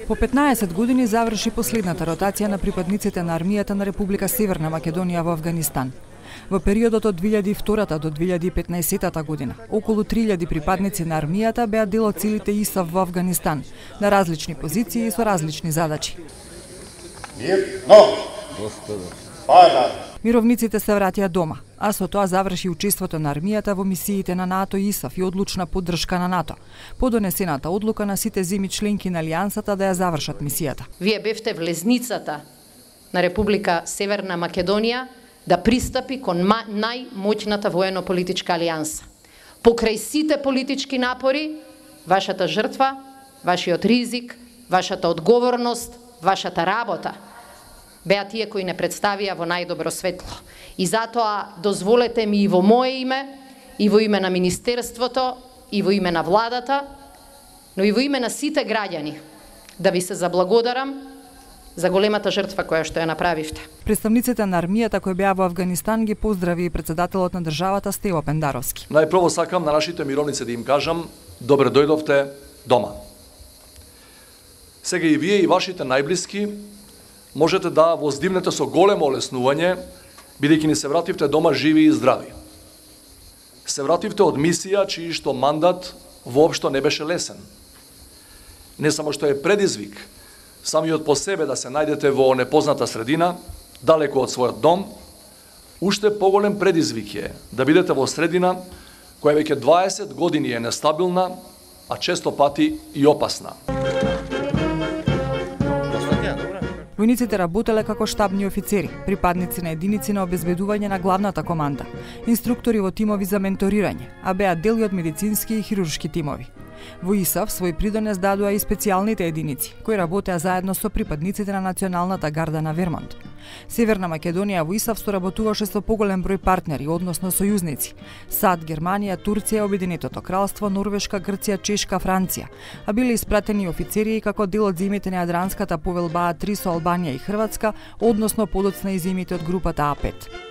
По 15 години заврши последната ротација на припадниците на армијата на Република Северна Македонија во Авганистан. Во периодот од 2002 до 2015 година, околу 3000 припадници на армијата беа дел од силите ИСАФ во Авганистан, на различни позиции и со различни задачи. Мировниците се вратија дома, а со тоа заврши учеството на армијата во мисиите на НАТО и ИСАФ и одлучна поддршка на НАТО, по донесената одлука на сите земји членки на Алијансата да ја завршат мисијата. Вие бевте влезницата на Република Северна Македонија да пристапи кон најмоќната воено-политичка алијанса. Покрај сите политички напори, вашата жртва, вашиот ризик, вашата одговорност, вашата работа беа тие кои не представија во најдобро светло. И затоа дозволете ми и во мое име, и во име на Министерството, и во име на владата, но и во име на сите граѓани, да ви се заблагодарам за големата жртва која што ја направивте. Представниците на армијата кои беа во Авганистан ги поздрави и председателот на државата Стево Пендаровски. Најпрво сакам на нашите мировници да им кажам добре дојдовте дома. Сега и вие и вашите најблиски можете да воздивнете со големо олеснување, бидејќи ни се вративте дома живи и здрави. Се вративте од мисија чиј што мандат воопшто не беше лесен. Не само што е предизвик, самиот по себе да се најдете во непозната средина, далеко од својот дом, уште поголем предизвик е да бидете во средина која веќе 20 години е нестабилна, а често пати и опасна. Војниците работеле како штабни офицери, припадници на единици на обезбедување на главната команда, инструктори во тимови за менторирање, а беа дел и од медицински и хируршки тимови. Во ИСАФ свој придонес дадоа и специјалните единици, кои работеа заедно со припадниците на Националната гарда на Вермонт. Северна Македонија во ИСАФ соработуваше со поголем број партнери, односно сојузници: САД, Германија, Турција, Обединетото кралство, Норвешка, Грција, Чешка, Франција, а биле испратени офицери и како дел од земјите на Јадранската повелба А3 со Албанија и Хрватска, односно подоцна и земјите од групата А5.